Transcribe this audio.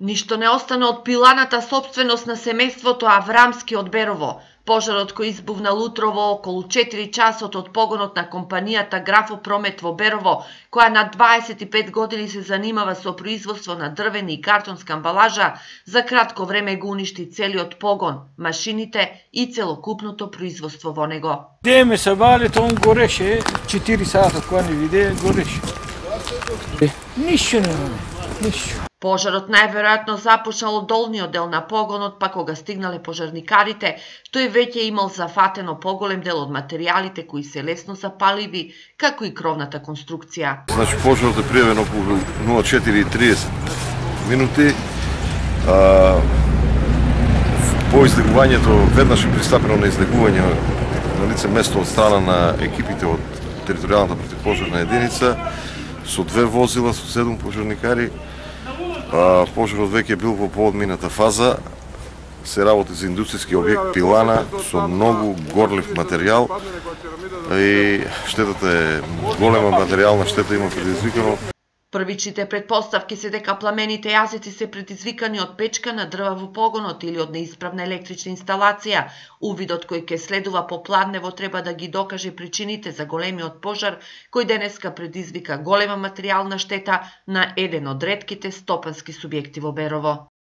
Ништо не остана од пиланата сопственост на семејството Аврамски од Берово. Пожарот кој избувна лутрово околу 4 часот од погонот на компанијата Графопромет во Берово, која на 25 години се занимава со производство на дрвени и картонска амбалажа, за кратко време го уништи целиот погон, машините и целокупното производство во него. Деме се вали, он гореше 4 сата, кога не виде, гореше. Ништо нема, ништо. Пожарот најверојатно започнал од долниот дел на погонот, па кога стигнале пожарникарите, тој веќе имал зафатено поголем дел од материјалите кои се лесно запаливи, како и кровната конструкција. Значи, пожарот е пријавен околу 04:30 минути. По излегувањето веднаш е пристапено на излегување на лице место од страна на екипите од територијалната противпожарна единица со 2 возила, со 7 пожарникари. Пожарот веќе бил во поодмината фаза, се работи за индустријски објект пилана со многу горлив материјал и штетата е голема, материјална штета има предизвикано. Првичните предпоставки се дека пламените јазици се предизвикани од печка на дрва во погонот или од неисправна електрична инсталација. Увидот кој ќе следува по Пладнево треба да ги докаже причините за големиот пожар, кој денеска предизвика голема материјална штета на еден од ретките стопански субјекти во Берово.